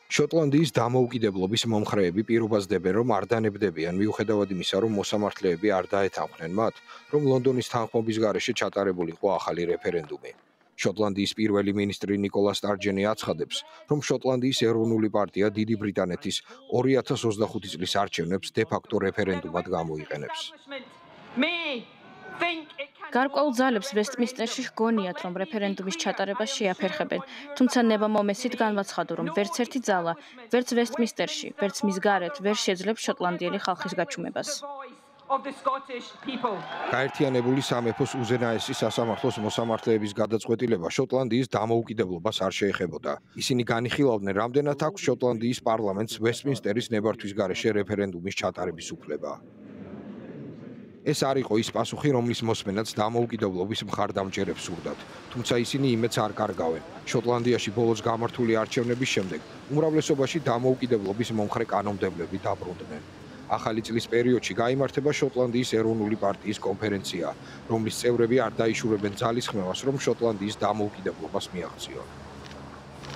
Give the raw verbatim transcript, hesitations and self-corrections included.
შოტლანდიის დამოუკიდებლობის მომხრეები პირობას დებენ, რომ არ დანებდებიან მიუხედავად იმისა, რომ მოსამართლეები არ დაეთანხმნენ მათ, რომ ლონდონის თანხმობის გარეშე ჩატარებულიყო ახალი რეფერენდუმი. შოტლანდიის პირველი მინისტრი ნიკოლა სტარჯენი აცხადებს, რომ შოტლანდიის ეროვნული პარტია დიდი ბრიტანეთის ორი ათას ოცდახუთი წლის არჩევნებს დე-ფაქტო რეფერენდუმად გამოიყენებს. გარკვეულ ძალებს ვესტმინსტერში ჰგონიათ, რომ რეფერენდუმის ჩატარებას შეაფერხებენ, თუმცა ნება მომესით განაცხადა, რომ ვერც ერთი ძალა, ვერც ვესტმინსტერში, ვერც მის გარეთ ვერ შეძლებს შოტლანდიელი ხალხის გაჩუმებას. გაერთიანებული სამეფოს უზენაესი სასამართლოს მოსამართლეების გადაწყვეტილება შოტლანდიის დამოუკიდებლობას არ შეეხებოდა. ისინი განიხილავდნენ, რამდენად აქვს შოტლანდიის პარლამენტს ვესტმინსტერის ნებართვის გარეშე რეფერენდუმის ჩატარების უფლება. ეს არ იყო ის პასუხი, რომლის მოსმენაც დამოუკიდებლობის მხარდამჭერებს სურდათ, თუმცა ისინი იმედს არ კარგავენ. შოტლანდიაში ბოლოს გამართული არჩევნების შემდეგ უმრავლესობაში დამოუკიდებლობის მომხრე კანონმდებლები დაბრუნდნენ. ახალი წლის პერიოდში გაიმართება შოტლანდიის ეროვნული პარტიის კონფერენცია, რომლის წევრები არ დაიშურებენ ძალისხმევას, რომ შოტლანდიის დამოუკიდებლობას მიაღწიონ.